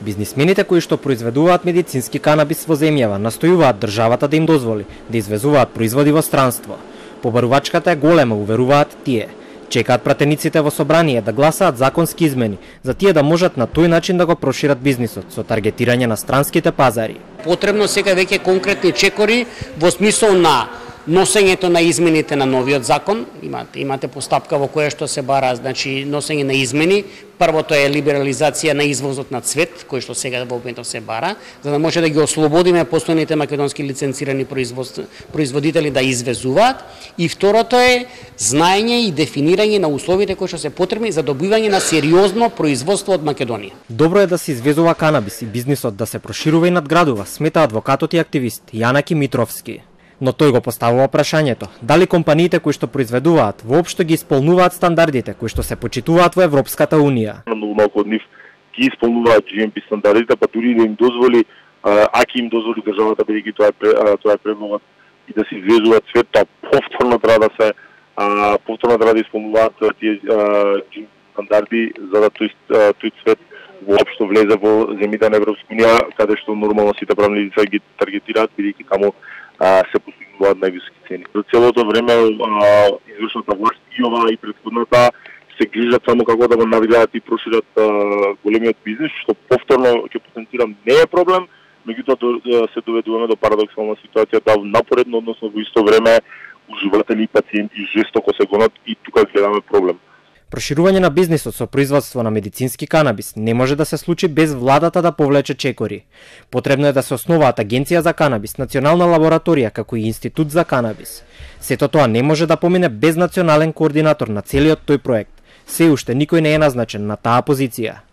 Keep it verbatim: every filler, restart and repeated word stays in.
Бизнисмените кои што произведуваат медицински канабис во земјава настојуваат државата да им дозволи да извезуваат производи во странство. Побарувачката е голема, уверуваат тие. Чекаат пратениците во собрание да гласаат законски измени за тие да можат на тој начин да го прошират бизнисот со таргетирање на странските пазари. Потребно сега веќе конкретни чекори во смисол на носењето на измените на новиот закон. Имате имате постапка во која што се бара, значи носење на измени. Првото е либерализација на извозот на цвет, кој што сега во моментов се бара, за да може да ги ослободиме постојните македонски лиценцирани производители да извезуваат. И второто е знаење и дефинирање на условите кои што се потребни за добивање на сериозно производство од Македонија. Добро е да се извезува канабис и бизнисот да се проширува и надградува, смета адвокатот и активист Јанаки Митровски. Но тој го поставува прашањето, дали компаниите кои што произведуваат воопшто ги исполнуваат стандардите кои што се почитуваат во Европската унија. Многу малку од нив ги исполнуваат джи ем пи стандардите, па дури да им дозволи, аки им дозволи државата бидејќи тоа е тоа е предлогот и да се извезуваат цвет, тоа повторно треба да се повторно треба да исполнуваат тие джи ем пи стандарди за да тој тој цвет воопшто влезе во земјите на Европска унија, каде што нормално сите правни лица ги таргетираат бидејќи таму се постигнуваат највисоки цени. За целото време извршната власт и оваа и претходната се грижат само како да го навигаат и прошират големиот бизнис, што повторно ќе потенцирам не е проблем, меѓутоа се доведуваме до парадоксална ситуација да напоредно, односно во исто време уживатели и пациенти жестоко се гонат и тука гледаме проблем. Проширување на бизнисот со производство на медицински канабис не може да се случи без владата да повлече чекори. Потребно е да се основаат Агенција за канабис, Национална лабораторија како и Институт за канабис. Сето тоа не може да помине без национален координатор на целиот тој проект. Се уште никој не е назначен на таа позиција.